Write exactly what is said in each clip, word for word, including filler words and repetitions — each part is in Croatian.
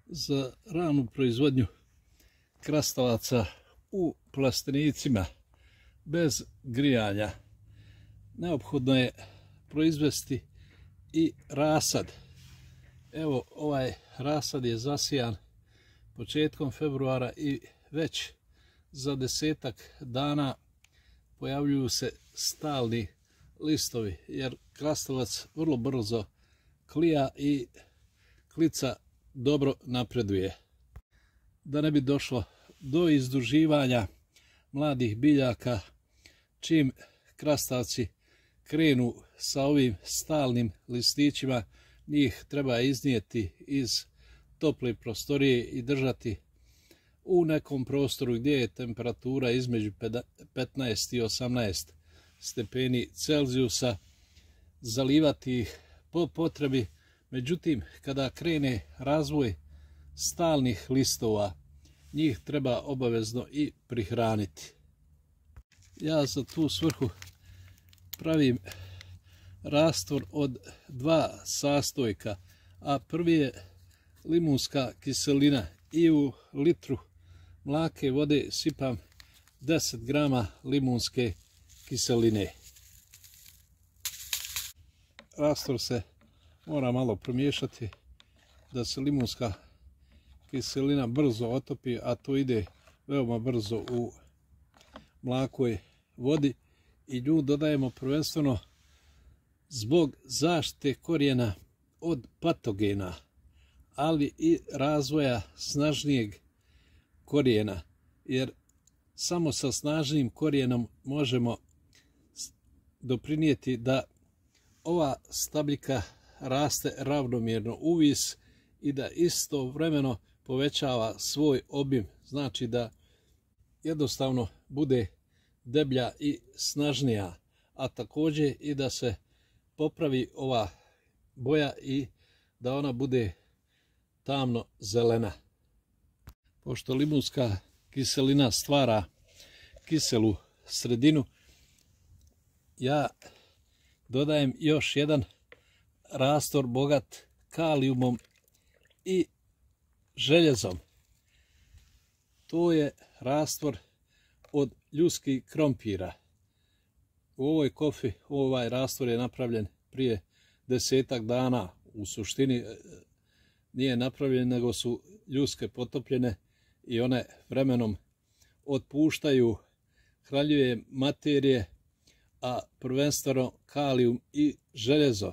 Za ranu proizvodnju krastavaca u plastenicima bez grijanja neophodno je proizvesti i rasad. Evo, ovaj rasad je zasijan početkom februara i već za desetak dana pojavljuju se stalni listovi, jer krastavac vrlo brzo klija i klica dobro napreduje. Da ne bi došlo do izduživanja mladih biljaka, čim krastavci krenu sa ovim stalnim listićima, njih treba iznijeti iz tople prostorije i držati u nekom prostoru gdje je temperatura između petnaest i osamnaest stepeni Celzijusa, zalivati ih po potrebi. Međutim, kada krene razvoj stalnih listova, njih treba obavezno i prihraniti. Ja za tu svrhu pravim rastvor od dva sastojka, a prvi je limunska kiselina i u litru mlake vode sipam deset grama limunske kiseline. Rastvor se mora malo promiješati da se limunska kiselina brzo otopi, a to ide veoma brzo u mlakoj vodi, i nju dodajemo prvenstveno zbog zaštite korijena od patogena, ali i razvoja snažnijeg korijena, jer samo sa snažnim korijenom možemo doprinijeti da ova stabljika raste ravnomjerno uvis i da istovremeno povećava svoj obim, znači da jednostavno bude deblja i snažnija, a također i da se popravi ova boja i da ona bude tamno zelena. Pošto limunska kiselina stvara kiselu sredinu, ja dodajem još jedan rastvor bogat kalijumom i željezom. To je rastvor od ljuskih krompira. U ovoj kofi ovaj rastvor je napravljen prije desetak dana. U suštini nije napravljen, nego su ljuske potopljene i one vremenom otpuštaju hranjive materije, a prvenstveno kalijum i željezo,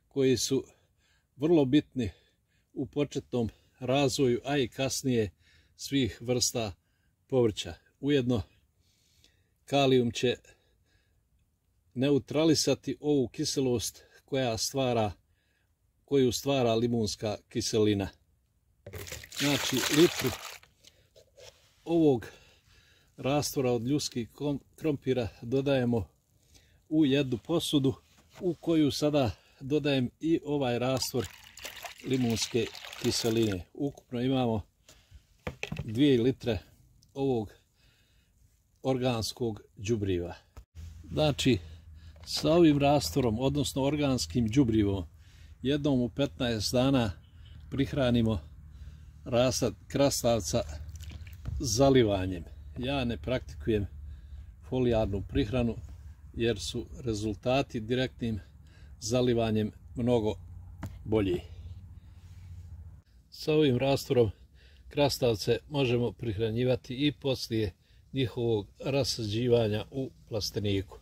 koji su vrlo bitni u početnom razvoju, a i kasnije svih vrsta povrća. Ujedno, kalijum će neutralisati ovu kiselost koja stvara, koju stvara limunska kiselina. Znači, litru ovog rastvora od ljuskih krompira dodajemo u jednu posudu, u koju sada dodajem i ovaj rastvor limunske kiseline. Ukupno imamo dvije litre ovog organskog đubriva. Znači, sa ovim rastvorom, odnosno organskim đubrivom, jednom u petnaest dana prihranimo rasad krastavca zalivanjem. Ja ne praktikujem folijarnu prihranu, jer su rezultati direktnim zalivanjem mnogo bolji. Sa ovim rastvorom krastavce možemo prihranjivati i poslije njihovog rasađivanja u plasteniku.